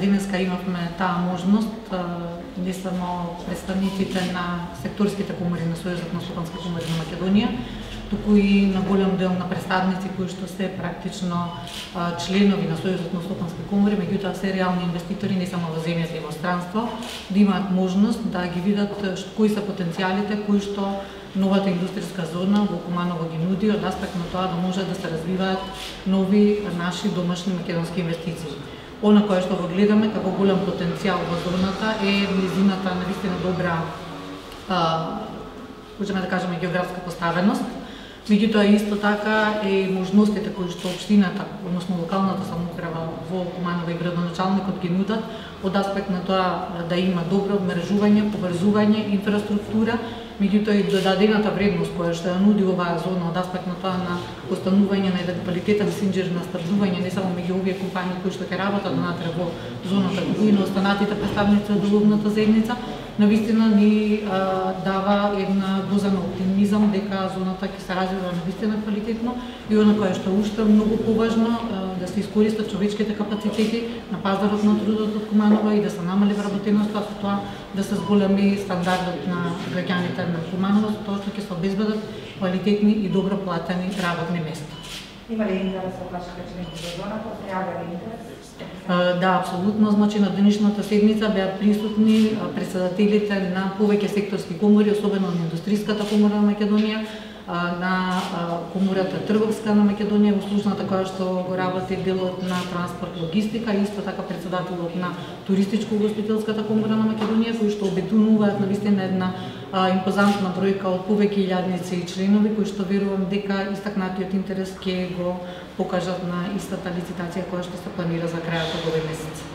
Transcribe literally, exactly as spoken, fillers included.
Денеска имавме таа можност, не само представниците на секторските комори на Сојузот на стопански комори на Македонија, туку и на голем дел на представници кои што се практично членови на Сојузот на стопански комори, меѓутоа се реални инвеститори не само во земјата и во странство, да имаат можност да ги видат кои се потенцијалите кои што новата индустријска зона во Куманово ги нуди од аспект на тоа да може да се развиваат нови наши домашни македонски инвестиции. Она кое што го гледаме како голем потенцијал во зоната е низината навистина добра, можеме да кажеме, географска поставеност. Меѓутоа исто така е можностите кои што општината, односно локалната самоуправа во Куманово и градоначалникот ги нудат од аспект на тоа да има добро обмрежување, поврзување, инфраструктура, меѓутоа и додадената вредност која што ја нуди оваа зона од аспект на тоа на останување на еден квалитетен синџир на снабдување не само меѓу овие компании кои што ќе работат внатре во зоната, туку и на останатите представници од ловната заедница, навистина ни а, дава една доза на оптимизам дека зоната ќе се развива навистина квалитетно и она кое што уште многу поважно а, да се искористат човечките капацитети на пазарот на трудот од Куманово и да се намали вработеноста, со тоа да се зголеми стандардот на граѓаните на Куманово, со тоа што ќе се обезбедат квалитетни и добро платени работни места. Има ли интерес од вашите членови за зоната? Пројавува ли интерес? Да, апсолутно. Значи на денешната седница беа присутни председателите на повеќе секторски комори, особено на индустријската комора на Македонија, на комората трговска на Македонија, услужната која што го работи делот на транспорт логистика, исто така председателот на туристичко-угостителската комора на Македонија, кои што обединуваат навистина една импозантна бројка од повеќе илјадници и членови, кои што верувам дека истакнатиот интерес ќе го покажат на истата лицитација која што се планира за крајот од овој месец.